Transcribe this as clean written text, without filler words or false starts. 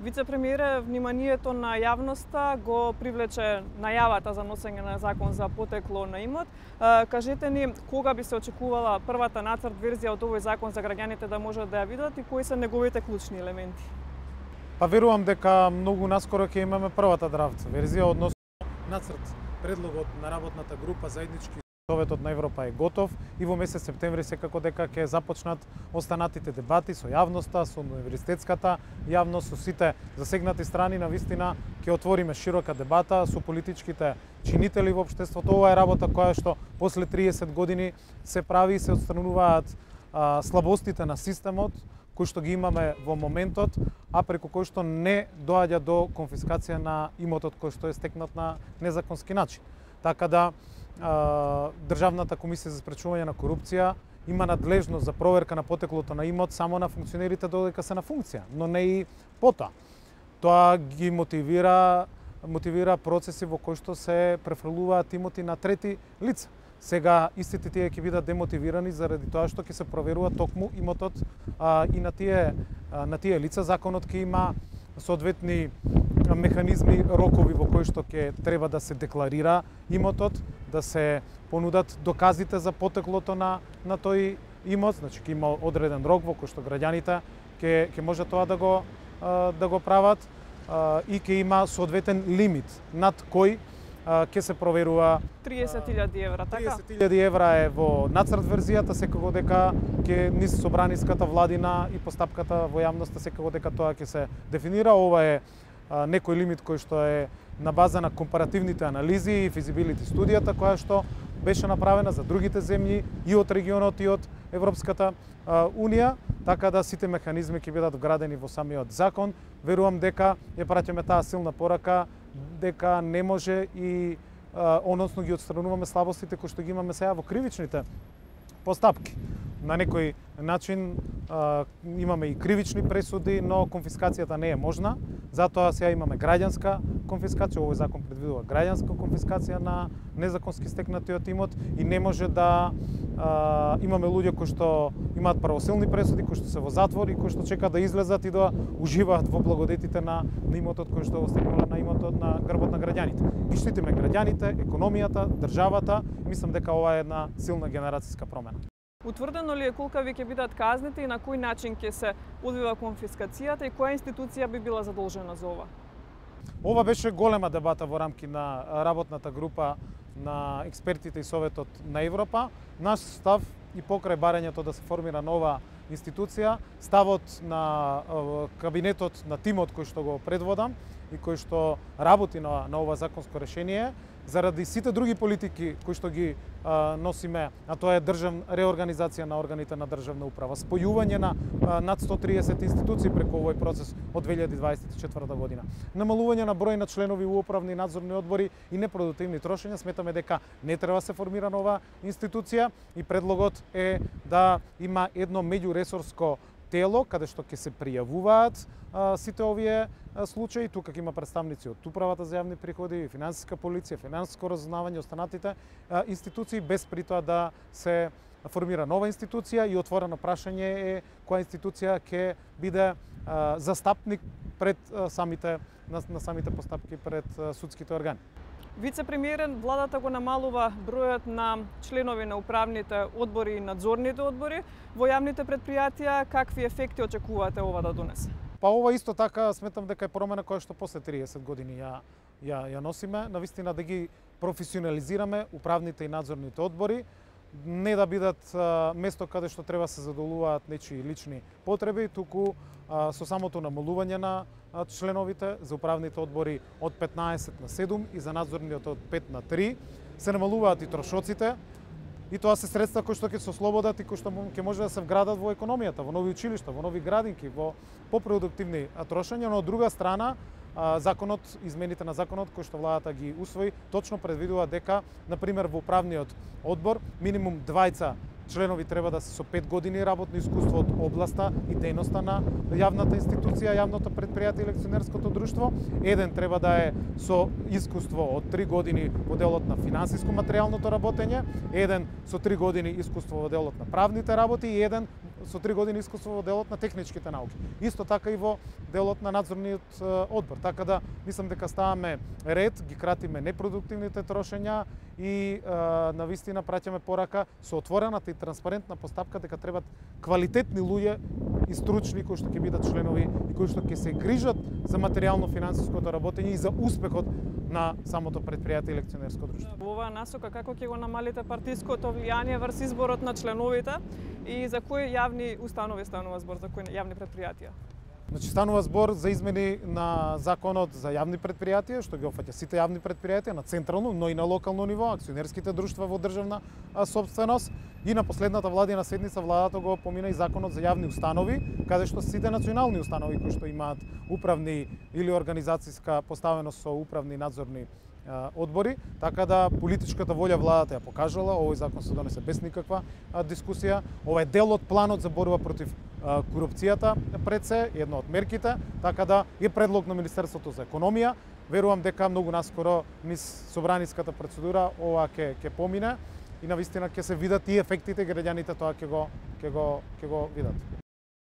Вице-премиере, вниманието на јавноста го привлече најавата за носење на закон за потекло на имот. Кажете ни кога би се очекувала првата нацрт верзија од овој закон за граѓаните да можат да ја видат и кои се неговите клучни елементи? Па верувам дека многу наскоро ќе имаме првата драфт верзија, односно нацрт предлогот на работната група заеднички Советот на Европа е готов и во месец септември секако дека ќе започнат останатите дебати со јавноста, со универзитетската јавност, со сите засегнати страни. Навистина ќе отвориме широка дебата со политичките чинители во општеството. Ова е работа која што после 30 години се прави и се отстрануваат слабостите на системот кои што ги имаме во моментот, а преку кој што не доаѓа до конфискација на имотот кој што е стекнат на незаконски начин. Така да Државната комисија за спречување на корупција има надлежност за проверка на потеклото на имот само на функционерите додека се на функција, но не и потоа. Тоа ги мотивира процеси во кои што се префрлуваат имоти на трети лица. Сега истите тие ќе бидат демотивирани заради тоа што ќе се проверува токму имотот и на тие лица. Законот ќе има соодветни механизми, рокови во кои што ќе треба да се декларира имотот, да се понудат доказите за потеклото на тој имот, значи ќе има одреден рок во кој што граѓаните ќе може тоа да го прават и ќе има соодветен лимит над кој ќе се проверува 30.000 евра, така? 30.000 евра е во нацрт верзијата, секако дека ќе низ собраниската владина и постапката во јавноста секако дека тоа ќе се дефинира. Ова е некој лимит кој што е на база на компаративните анализи и физибилити студијата која што беше направена за другите земји и од регионот и од Европската Унија, така да сите механизми ќе бидат вградени во самиот закон. Верувам дека ја праќаме таа силна порака дека не може и односно ги отстрануваме слабостите кои што ги имаме сега во кривичните постапки. На некој начин имаме и кривични пресуди, но конфискацијата не е можна. Затоа сега имаме граѓанска конфискација, овој закон предвидува граѓанска конфискација на незаконски стекнатиот имот и не може да имаме луѓе кои што имаат правосилни пресуди, кои што се во затвор и кои што чекаат да излезат и да уживаат во благодетите на имотот кој што го стекнува на имотот на грбот на граѓаните. Ги штитиме граѓаните, економијата, државата. Мислам дека ова е една силна генерацијска промена. Утврдено ли е колкави ќе бидат казните и на кој начин ќе се одвива конфискацијата и која институција би била задолжена за ова? Ова беше голема дебата во рамки на работната група на експертите и Советот на Европа. Наш став и покрај барањето да се формира нова институција, ставот на кабинетот на тимот кој што го предводам и кој што работи на ова законско решение, заради сите други политики кои што ги носиме, а тоа е реорганизација на органите на државна управа, спојување на над 130 институции преку овој процес од 2024 година, намалување на број на членови у управни и надзорни одбори и непродуктивни трошења, сметаме дека не треба се формира нова институција и предлогот е да има едно меѓуресорско тело каде што ќе се пријавуваат сите овие случаи. Тука ќе има представници од Управата за јавни приходи, финансиска полиција, финансиско разузнавање, останатите институции, без при тоа да се формира нова институција и отворено прашање е која институција ќе биде застапник пред на самите постапки пред судските органи. Вице-премиерен, владата го намалува бројот на членови на управните одбори и надзорните одбори во јавните претпријатија. Какви ефекти очекувате ова да донесе? Па ова исто така сметам дека е промена која што после 30 години ја носиме, навистина да ги професионализираме управните и надзорните одбори, не да бидат место каде што треба се задоволуваат нечии лични потреби, туку со самото намалување на членовите за управните одбори од 15 на 7 и за надзорниот од 5 на 3 се намалуваат и трошоците. И тоа се средства кои што ќе се ослободат и кои што ќе може да се вградат во економијата, во нови училишта, во нови градинки, во попродуктивни трошења, но од друга страна законот, измените на законот кои што владата ги усвои, точно предвидува дека, на пример, во управниот одбор минимум 2 членови треба да се со 5 години работно искуство од областа и дејноста на јавната институција, јавното претпријатие или акционерското друштво. Еден треба да е со искуство од 3 години во делот на финансиско-материјалното работење, еден со 3 години искуство во делот на правните работи и еден со 3 години искуство во делот на техничките науки. Исто така и во делот на надзорниот одбор. Така да мислам дека ставаме ред, ги кратиме непродуктивните трошења и на вистина праќаме порака со отворената и транспарентна постапка дека требат квалитетни луѓе и стручни кои што ќе бидат членови и кои што ќе се грижат за материјално-финансиското работење и за успехот на самото предпријатие и лекционерско друштво. Во оваа насока како ќе го намалите партиското влијание врз изборот на членовите и за кои јавни установи станува збор, за кои јавни предпријатија? Значи станува збор за измени на законот за јавни предпријатија, што ги опфаќа сите јавни предпријатија на централно, но и на локално ниво, акционерските друштва во државна собственост. И на последната владина седница владата го помина и законот за јавни установи, каде што сите национални установи кои што имаат управни или организацијска поставеност со управни надзорни одбори, така да политичката волја владата ја покажала, овој закон се донесе без никаква дискусија. Ова е дел од планот за борба против корупцијата пред се, едно од мерките, така да е предлог на Министерството за економија. Верувам дека многу наскоро низ собраниската процедура ова ќе помине и навистина ќе се видат и ефектите, граѓаните тоа ќе го видат.